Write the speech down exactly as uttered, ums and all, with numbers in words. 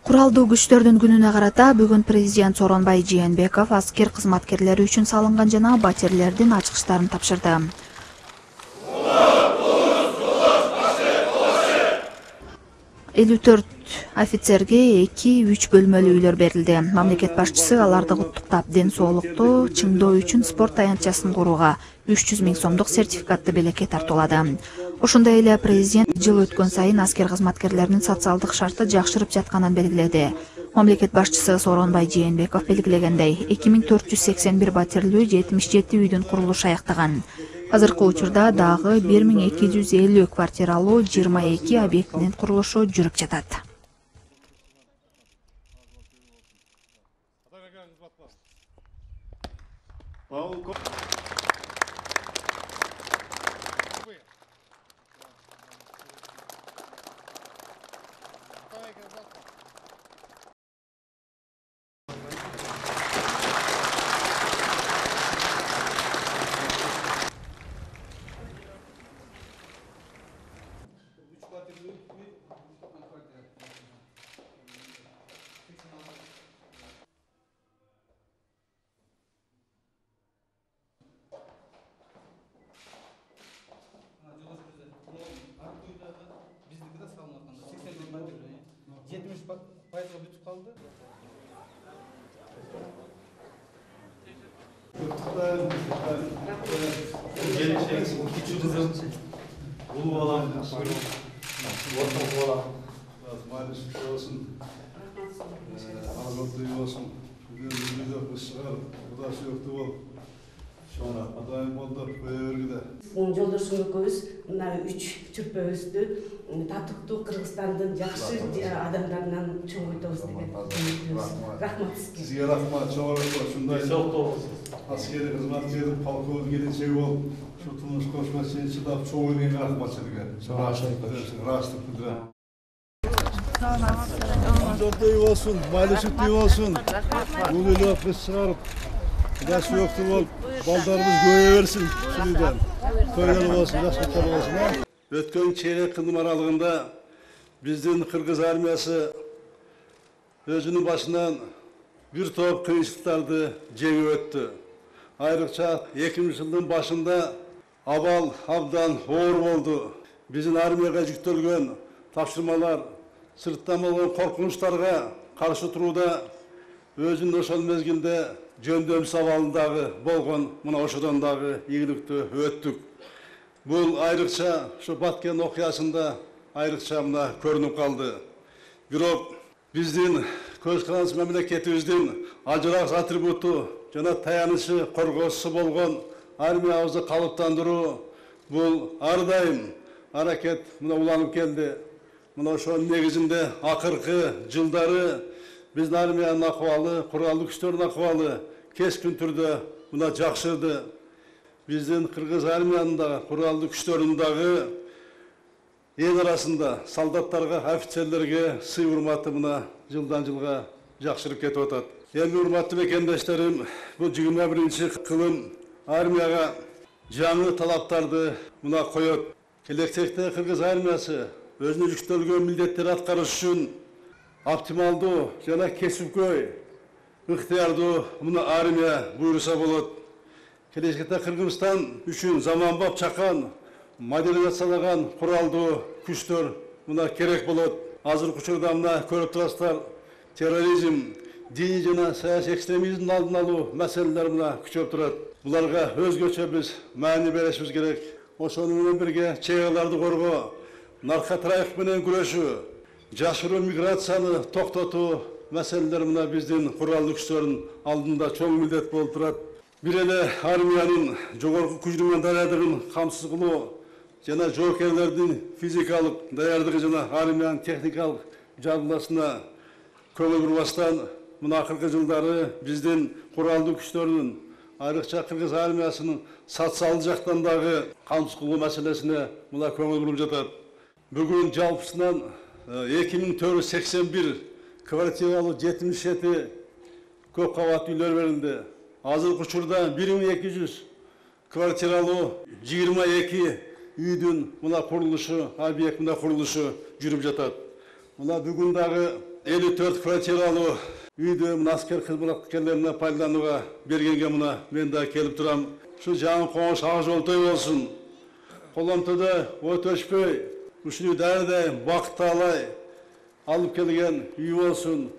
Куралдуу күчтөрдүн күнүнө карата бүгүн президент Сооронбай Жээнбеков аскер кызматкерлери үчүн салынган жана батирлердин ачкычтарын тапшырды. элүү төрт офицерге эки үч бөлмөлүү үйлөр берилди. Мамлекет башчысы аларды куттуктап, ден соолукту чыңдоо үчүн спорт таянтчасын курууга үч жүз миң сомдук сертификатты белекке тартуулады. Ошондой эле президент жыл өткөн сайын аскер кызматкерлеринин социалдык шарты жакшырып жатканын белгиледи. Мамлекет башчысы Сооронбай Жээнбеков белгилегендей, эки миң төрт жүз сексен бир батирлүү жетимиш жети үйдүн курулушу аяктаган. Азыркы учурда дагы бир миң эки жүз элүү квартиралуу жыйырма эки объектинин курулушу жүрүп жатат. жетимиш пайызга бүтүп калды. Кичүү кызым, улуу балам, орто балам, майрыш болсун, азаттуу болсун, күнүнүздө ышыгар, Кудай сүйөктүү бол. Шона Кудайым болдур, көйөргүдө. Жолдошум экөөбүз мына үч чүрпөбүздү татыктуу Кыргызстандын жакшы адамдарынан чоң өтөбүз деген үмүттүбүз. Рахмат сизге. Сизге рахмат, чоң рахмат. Ушундай аскери кызматкерлик полковник келечеги болуп, ушу турмуш кошмосун чыдап чоң ийген рахмат сизге. Ырастык билдирем. Жолдой болсун, майлышыктуу болсун. Бул эле кыз чыгарып Кудай сүйөктүү болуп, балдарыбыз көбөйө берсин. Шундан. Тойлор болсун, жакшылыктар болсун. Өткөн чейрек кылым аралыгында биздин Кыргыз армиясы өзүнүн башынан бир топ кыйынчылыктарды жеңип өттү. Айрыкча эки миңинчи жылдын башында абал абдан оор болду. Биздин армияга жүктөлгөн тапшырмалар сырттан болгон коркунучтарга каршы турууда өзүнүн ошол мезгилде жөндөмсүз абалындагы болгон мына ошодон дагы ийгиликтүү өттүк. Бул айрыкча ушу Баткен окуясында айрыкча мына көрүнүп калды. Бирок биздин көз карандысыз мамлекетибиздин ажырагыс атрибуту жана таянычы коргоосу болгон армиябызды калыптандыруу бул ар дайым аракет мына уланып келди. Мына ошонун негизинде акыркы жылдары биздин армиянын акыбалы, куралдуу күчтөрдүн акыбалы кескин түрдө мына жакшырды. Биздин Кыргыз армиянын да куралдуу күчтөрүнүн дагы эл арасында солдаттарга, офицерлерге сый урматы мына жылдан жылга жакшырып кетип атат. Эми урматтуу мекендештерим, бул жыйырма биринчи кылым армияга жаңы талаптарды мына коет. Келечекте Кыргыз армиясы өзүнө жүктөлгөн милдеттерди аткарыш үчүн оптималдуу жана кесипкөй ыктыярдуу мына армия буйруса болот. Келечекте Кыргызстан үчүн заманбап чакан модернизациялаган куралдуу күчтөр мына керек болот. Азыркы учурда мына көрүп турасыздар, терроризм, диний жана саясий экстремизмдин алдын алуу маселелери мына күчөп турат. Буларга өзгөчө биз маани беришибиз керек. Ошону менен бирге чек-араларды коргоо, наркотрафик менен күрөшүү, жашыруу миграцияны токтотуу маселелер мына биздин куралдуу күчтөрдүн алдында чоң милдет болуп турат. Бир эле армиянын жогорку күчтүн даярдыгын камсыз кылуу жана жоокерлердин физикалык даярдыгы жана армиянын техникалык жабдууласына көңүл бурбастан мына акыркы жылдары биздин куралдуу күчтөрдүн айрыкча Кыргыз армиясынын социалдык жактан дагы камсыз кылуу маселесине мына көңүл буруп жатат. Бүгүн жалпысынан эки миң төрт жүз сексен бир квартиралуу жетимиш жети көп кабаттуу үйлөр берилди. Азыркы учурда бир миң эки жүз квартиралуу жыйырма эки үйдүн мына курулушу, объект мына курулушу жүрүп жатат. Мына бүгүн дагы элүү төрт квартиралуу үйдө мына аскер кызматкерлерине пайдаланууга бергенге мына мен да келип турам. Ушу жаңы коңуш ак жолтой болсун. Коломтода өтөшпөй, ушуну дайыр бакытты алай алып келген үй болсун.